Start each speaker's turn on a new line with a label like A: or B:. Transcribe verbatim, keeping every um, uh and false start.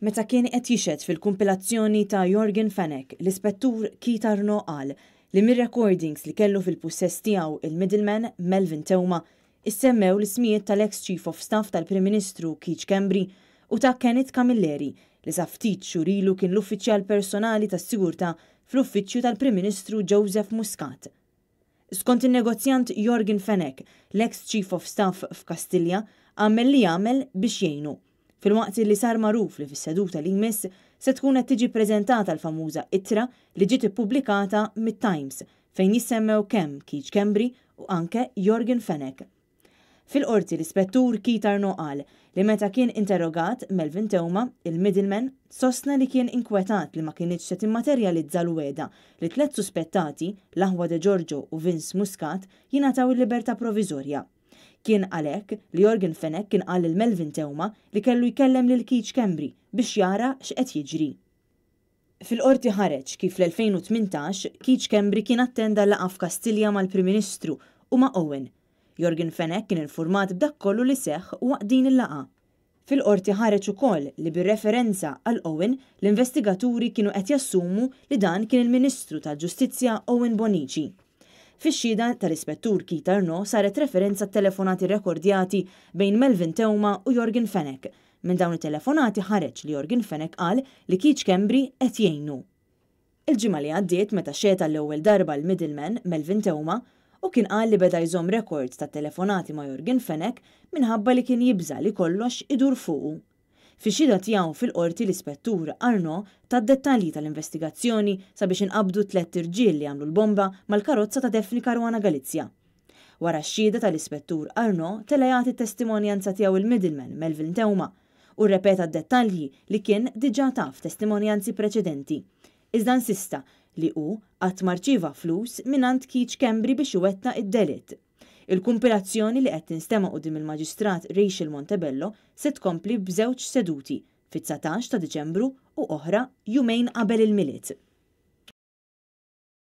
A: Meta kien qed jixhed fil-kumpilazzjoni ta' Yorgen Fenech, l-Ispettur Keith Arnaud qal li mir-recordings li kellu fil-pussess tiegħu il-middleman Melvin Theuma issemmew l-ismijiet tal-ex Chief of Staff tal-Prim Ministru Keith Schembri u ta' Kenneth Camilleri, li sa ftit xhur ilu kien l-uffiċjal personali tas-sigurtà fl-uffiċċju tal-Prim Ministru Joseph Muscat. Skont il-negozjant Yorgen Fenech, l-ex Chief of Staff f'Kastilja għamel li għamel biex jgħinu. Filwaqt li sar magħruf li fis-seduta li jmiss se tkun qed tiġi preżentata l-famuża ittra li ġiet ippubblikata mit-Times, fejn jissemmew kemm Keith Schembri u anke Yorgen Fenech. Fil-qorti, l-Ispettur Keith Arnaud qal li meta kien interrogat Melvin Theuma, il-middleman, sostna li kien inkwetat li ma kinitx se timmaterjalizza l-wegħda li tliet suspettati, l-aħwa De Giorgio u Vince Muscat, jingħataw il-libertà proviżorja. Kien għalhekk li Yorgen Fenech kien qal lil Melvin Theuma li kellu jkellem lil Keith Schembri biex jara x'qed jiġri. Fil-qorti ħareġ kif fl-elfejn u tmintax Keith Schembri kien attenda laqgħa f'Kastilja mal-Prim Ministru u ma' Owen. Yorgen Fenech kien informat b'dak kollu li seħħ waqt din il-laqgħa. Fil-qorti ħareġ ukoll li bir-referenza għal Owen, l-investigaturi kienu qed jassumu li dan kien il-Ministru tal-Ġustizzja Owen Bonnici. Fix-xhieda tal-Ispettur Keith Arnaud saret referenza telefonati rekordjati bejn Melvin Theuma u Yorgen Fenech. Minn dawn it-telefonati ħareġ li Yorgen Fenech qal li Keith Schembri qed jgħinu. Il-ġimgħa li għaddiet, meta xehed l-ewwel darba l-middleman Melvin Theuma, u kien qal li beda jżomm rekord ta' telefonati ma' Yorgen Fenech minħabba li kien jibża li kollox idur fuqu. Fix-xhieda tiegħu fil-qorti, l-Ispettur Arnaud ta dettalji tal-investigazzjoni sabiex inqabdu tliet irġiel li għamlu l-bomba mal-karozza ta' Daphne Caruana Galizia. Wara x-xhieda tal-Ispettur Arnaud, tela' jagħti testimonjanza tiegħu il-middleman Melvin Theuma u rrepeta dettalji li kien diġà taf f'testimonjanzi preċedenti. Iżda insista li hu qatt ma rċieva flus mingħand Keith Schembri biex iwettaq id-delitt. Il-kumpilazzjoni li qed tinstema' quddiem il-Maġistrat Rachel Montebello se tkompli b'żewġ seduti fit-dsatax ta' Diċembru u oħra jumejn qabel il-Milied.